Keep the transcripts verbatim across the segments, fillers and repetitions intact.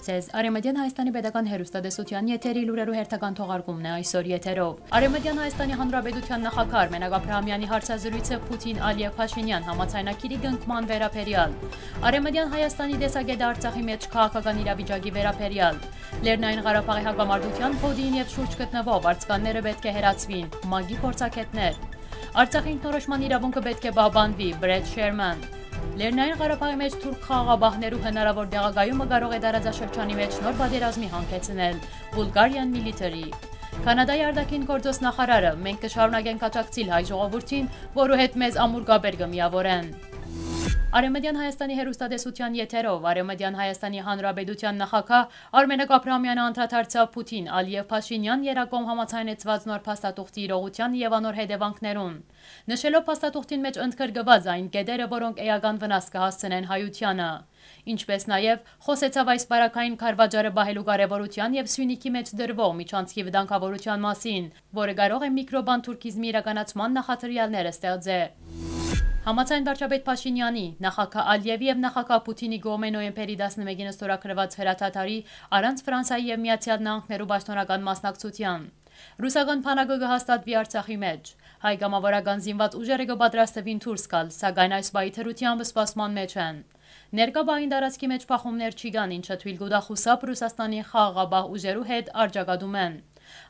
Ձեզ Արեմտյան Հայաստանի պետական հեռուստատեսության եթերի լուրերու հերթական թողարկումն է այսօր եթերով։ Արեմտյան Հայաստանի Հանրապետության նախագահ Արմենակ Աբրահամյանի հարցազրույցը Պուտին Ալիև Փաշինյան համաձայնագիրի կնքման վերաբերեալ։ Արեմտյան Հայաստանի տեսակետը Արցախի մեջ քաղաքական իրավիճակի վերաբերեալ։ Լեռնային Ղարաբաղի հակամարտության կոդին եւ շուրջ գտնվող վարձկանները պէտք է հեռացուին, մագի փորձագետներ։ Արցախի ինքնորոշման իրավունքը պէտք է պահպանուի, Բրետ Շերման։ Լեռնային Ղարաբաղի մեջ թուրք խաղաղապահներու հնարաւոր տեղակայումը կարող է տարածաշրջանի մեջ նոր պատերազմի հանգեցնել, Bulgarian Military։ Կանադայի արտաքին գործոց նախարարը, մենք կը շարունակենք աջակցիլ հայ ժողովուրդին, որու հետ մեզ ամուր կապեր կը միաւորեն։ Արեմտյան Հայաստանի հեռուստատեսության եթերով Արեմտյան Հայաստանի Հանրապետության նախագահ Արմենակ Աբրահամյանը անդրադարձաւ Պուտին, Ալիև Փաշինյան երակոմ համաձայնեցուած նոր փաստաթուղթի իրողութեան եւ անոր հետեւանքներուն, նշելով փաստաթուղթին մեջ ընդգրկուած այն կետերը, որոնք էական վնաս կը հասցնեն հայությանը։ Ինչպէս նաեւ, խոսեցաւ այս պարագային քարվաճառը պահելու կարեւորութեան եւ Սիւնիքի մեջ դրուող միջանցքի վտանգաւորութեան մասին, որը կարող է միկրոբան թուրքիզմի իրականացման նախադրեալները ստեղծե։ Համաձայն վարչապետ Փաշինեանի, նախագահ Ալիևի եւ նախագահ Պուտինի կողմէ նոյեմբերի տասնմէկին ստորագրուած հրադադարի, առանց Ֆրանսայի եւ Միացեալ Նահանգներու պաշտօնական մասնակցութեան, ռուսական բանակը կը հաստատուի Արցախի մեջ։ Հայ կամաւորական զինուած ուժերը կը պատրաստուին դուրս գալ, սակայն այս պահի դրությամբ սպասման մեջ են։ Ներկայ պահին տարածքի մեջ բախումներ չի կան, ինչը թոյլ կու տայ խուսափ Ռուսաստանի խաղաղապահ ուժերու հետ առճակատումէն։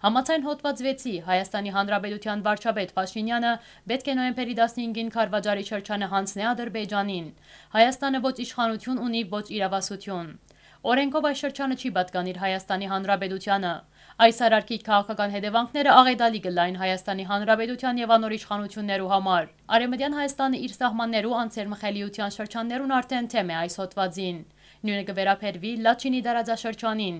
Համաձայն հոդուած վեցի, Հայաստանի Հանրապետության վարչապետ Փաշինեանը պէտք է նոյեմբերի տասնհինգին քարվաճառի շրջանը յանձնէ Ադրբեջանին։ Հայաստանը ոչ իշխանություն ունի, ոչ իրավասություն։ Օրենքով այս շրջանը չի պատկանիր Հայաստանի Հանրապետությանը։ Այս արարքի քաղաքական հետեւանքները աղետալի կ'ըլլային Հայաստանի Հանրապետութեան եւ անոր իշխանութիւններու համար։ Արեմտեան Հայաստանը իր սահմաններու անցերմխելիութեան շրջաններուն արդէն թեմ է այս հոդուածին։ Նոյնը կը վերաբերուի Լաչինի տարածաշրջանին։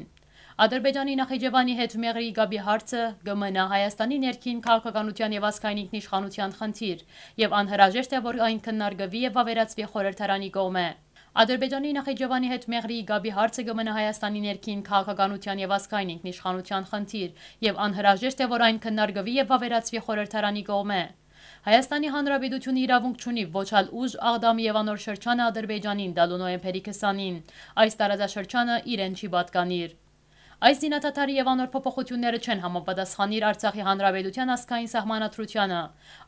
Ադրբեջանի Նախիջեվանի հետ Մեղրիի կապի հարցը կը մնայ Հայաստանի ներքին քաղաքականութեան եւ ազգային ինքնիշխանութեան խնդիր, եւ անհրաժեշտ է, որ այն քննարկուի եւ վաւերացուի խորհրդարանի կողմէ։ Ադրբեջանի Նախիջեվանի հետ Մեղրիի կապի հարցը կը մնայ Հայաստանի ներքին քաղաքականութեան եւ ազգային ինքնիշխանութեան խնդիր, եւ անհրաժեշտ է, որ այն քննարկուի եւ վաւերացուի խորհրդարանի կողմէ։ Հայաստանի Հանրապետությունը իրաւունք չունի ոչ ալ ուժ, Աղդամի եւ անոր շրջանը Ադրբեջանին տալու նոյեմբերի քսանին։ Այս տարածաշրջանը իրեն չի պատկանիր։ Այս զինադադարը եւ անոր փոփոխութիւնները չեն համապատասխանիր Արցախի Հանրապետութեան ազգային սահմանադրութեանը։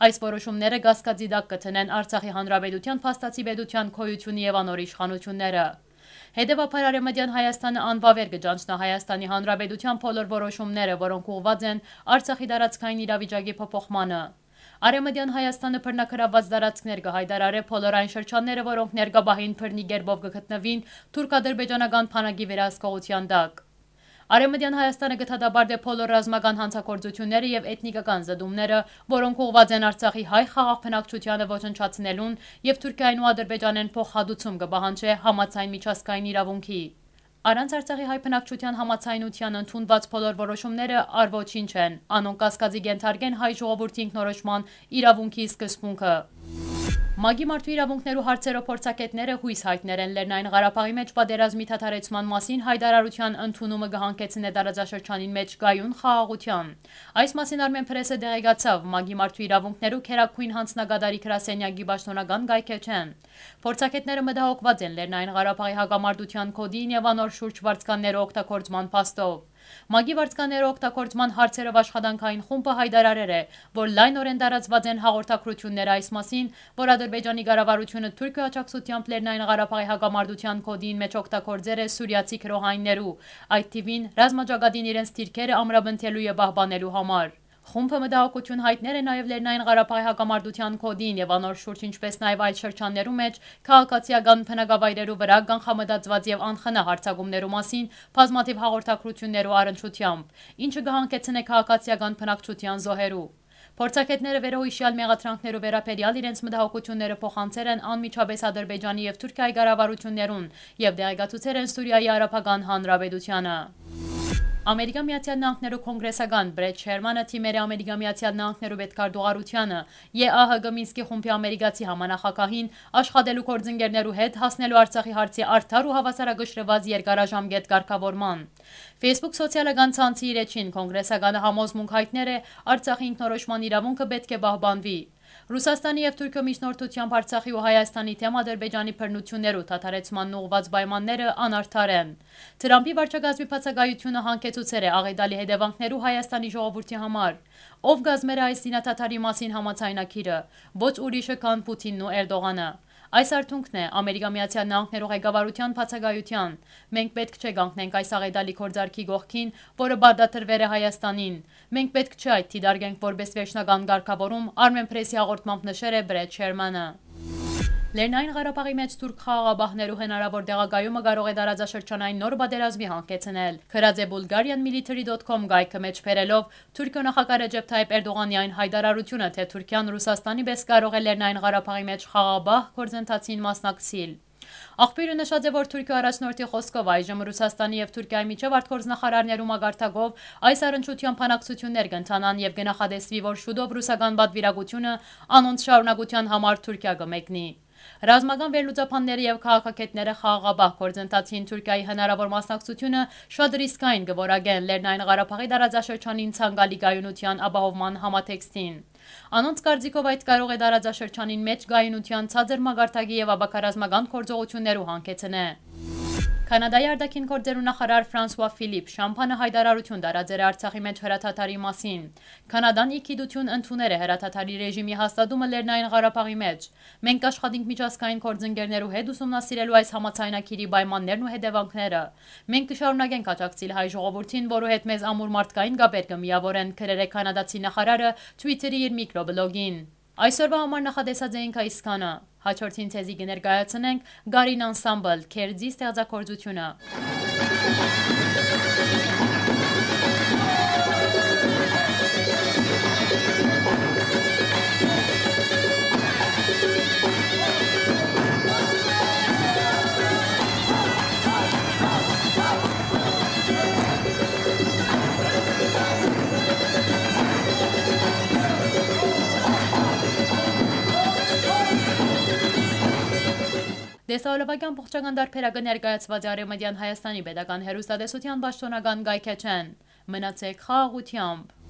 Այս որոշումները կասկածի տակ կը դնեն Արցախի Հանրապետութեան փաստացի պետութեան գոյութիւնը եւ անոր իշխանութիւնները։ Հետեւաբար Արեմտեան Հայաստանը անվաւեր կը ճանչնայ Հայաստանի Հանրապետութեան բոլոր որոշումները, որոնք ուղղուած են Արցախի տարածքային իրավիճակի փոփոխմանը։ Արեմտեան Հայաստանը բռնագրաւուած տարածքներ կը յայտարարէ բոլոր այն շրջանները, որոնք ներկայ պահին բռնի կերպով կը գտնուին թուրք-ադրբեջանական բանակի վերահսկողութեան տակ։ Արեմտեան Հայաստանը կը դատապարտէ բոլոր ռազմական հանցագործութիւնները եւ էթնիկական զտումները, որոնք ուղղուած են Արցախի հայ խաղաղ բնակչութեանը ոչնչացնելուն եւ Թուրքիայէն ու Ադրբեջանէն փոխհատուցում կը պահանջէ համաձայն միջազգային իրաւունքի։ Առանց Արցախի հայ բնակչութեան համաձայնութեան ընդունուած բոլոր որոշումները առ ոչինչ են, անոնք կասկածի կ'ենթարկեն հայ ժողովուրդի ինքնորոշման իրաւունքի սկզբունքը։ մագի մարդու իրաւունքներու հարցերով փորձագետները յոյս յայտներ են Լեռնային Ղարաբաղի մեջ պատերազմի դադարեցման մասին յայտարարութեան ընդունումը կը հանգեցնէ տարածաշրջանին մեջ կայուն խաղաղութեան։ Այս մասին Արմեն Փրեսը տեղեկացաւ մագի մարդու իրաւունքներու գերագույն հանձնակատարի գրասենյակի պաշտօնական կայքէջէն։ Փորձագետները մտահոգուած են Լեռնային Ղարաբաղի հակամարտութեան կոդին եւ անոր շուրջ վարձկաններու օգտագործման փաստով։ մագի վարձկաններու օգտագործման հարցերով աշխատանքային խումբը յայտարարեր է, որ լայնօրէն տարածուած են հաղորդագրութիւնները այս մասին, որ Ադրբեջանի կառավարութիւնը Թուրքիոյ աջակցութեամբ Լեռնային Ղարաբաղի հակամարտութեան կոդին մեջ օգտագործեր է սուրիացի գրողայիններու, այդ թիւին ռազմաճակատին իրենց դիրքերը ամրապնդելու եւ պահպանելու համար։ Խումբը մտահոգութիւն յայտներ է նաեւ Լեռնային Ղարաբաղի հակամարտութեան կոդին եւ անոր շուրջ, ինչպէս նաեւ այլ շրջաններու մեջ քաղաքացիական բնակավայրերու վրայ կանխամտածուած եւ անխնայ յարձակումներու մասին բազմաթիւ հաղորդագրութիւններու առնչութեամբ, ինչը կը հանգեցնէ քաղաքացիական բնակչութեան զոհերու։ Փորձագետները վերոյիշեալ մեղադրանքներու վերաբերեալ իրենց մտահոգութիւնները փոխանցեր են անմիջապէս Ադրբեջանի եւ Թուրքիայի կառավարութիւններուն եւ տեղեկացուցեր են Սուրիայի Արաբական Հանրապետությանը։ Ամերիկա Միացեալ Նահանգներու կոնգրեսական Բրետ Շերմանը դիմեր է Ամերիկա Միացեալ Նահանգներու պետքարտուղարությանը, Ե Ա Հ Կ Մինսկի խումբի ամերիկացի համանախագահին, աշխատելու գործընկերներու հետ հասնելու Արցախի հարցի արդար ու հավասարակշռուած երկարաժամկետ կարգաւորման։ Facebook սոցիալական ցանցի իր էջին կոնգրեսականը համոզմունք յայտներ է Արցախի ինքնորոշման իրաւունքը պէտք է պահպանուի։ Ռուսաստանի եւ Թուրքիոյ միջնորդությամբ Արցախի ու Հայաստանի թէմ Ադրբեջանի բռնութիւններու դադարեցման ուղղուած պայմանները անարդար են։ Թրամփի վարչակազմի բացակայութիւնը յանգեցուցեր է աղետալի հետեւանքներու Հայաստանի ժողովուրդի համար։ Ո՞վ կազմեր այս զինադադարի մասին համաձայնագիրը։ Ոչ ուրիշը, քան Պութինն ու Էրդողանը։ Այս արդյունքն է, Ամերիկա Միացյալ Նահանգներու ղեկավարութեան բացակայութեան։ Մենք պէտք չէ կանգնենք այս աղետալի գործարքի կողքին, որը պարտադրուեր է Հայաստանին։ Մենք պէտք չէ այդ դիտարկենք որպէս վերջնական կարգաւորում, Արմենփրեսի հաղորդմամբ նշեր է Բրետ Շերմանը։ Լեռնային Ղարաբաղի մէջ թուրք խաղաղապահներու հնարաւոր տեղակայումը կարող է տարածաշրջանային նոր պատերազմի յանգեցնել, գրած է Bulgarian Military dot com կայքը մէջ բերելով Թուրքիոյ նախագահ Ռեջեփ Թայիփ Էրդողանի այն յայտարարութիւնը, թէ Թուրքիան Ռուսաստանի պէս կարող է Լեռնային Ղարաբաղի մէջ խաղաղապահ գործընթացին մասնակցիլ։ Աղբիւրը նշած է, որ Թուրքիոյ առաջնորդի խօսքով այժմ Ռուսաստանի եւ Թուրքիայի միջեւ արտգործնախարարներու մակարդակով այս առնչությամբ բանակցութիւններ կ'ընթանան եւ կը նախատեսուի, որ շուտով ռուսական պատվիրակութիւնը անոնց շարունակութեան համար Թուրքիա կը մեկնի։ Ռազմական վերլուծաբանները եւ քաղաքագէտները խաղաղապահ գործընթացին Թուրքիայի հնարաւոր մասնակցութիւնը շատ ռիսկային կը որակեն Լեռնային Ղարաբաղի տարածաշրջանին ցանկալի կայունութեան ապահովման համատեքստին։ Անոնց կարծիքով, այդ կարող է տարածաշրջանին մէջ կայունութեան ցածր մակարդակի եւ ապակա ռազմական գործողութիւններու յանգեցնէ։ Քանադայի արտաքին գործերու նախարար Ֆրանսուա Ֆիլիպ Շամփանը յայտարարութիւն տարածեր Արցախի մէջ հրադադարի մասին։ Քանադան ի գիտութիւն ընդուներ է հրադադարի ռեժիմի հաստատումը Լեռնային Ղարաբաղի մէջ։ Մենք կաշխատենք միջազգային գործընկերներու հետ ուսումնասիրելու այս համաձայնագիրի պայմաններն ու հետեւանքները։ Մենք կը շարունակենք աջակցիլ հայ ժողովուրդին, որու հետ մեզ ամուր մարդկային կապեր կը միաւորեն, գրեր է քանադացի նախարարը Twitter-ի իր միկրոբլոգին։ Այսօրվա համար նախատեսած էինք այսքանը։ Հաջորդին ձեզի կը ներկայացնենք Գարին անսամբլ Քերձի ստեղծագործութիւնը։ Տեսահոլովակի ամբողջական տարբերակը ներկայացուած է Արեւմտեան Հայաստանի պետական հեռուստատեսութեան պաշտօնական կայքէջէն։ Մնացեք խաղաղութեամբ։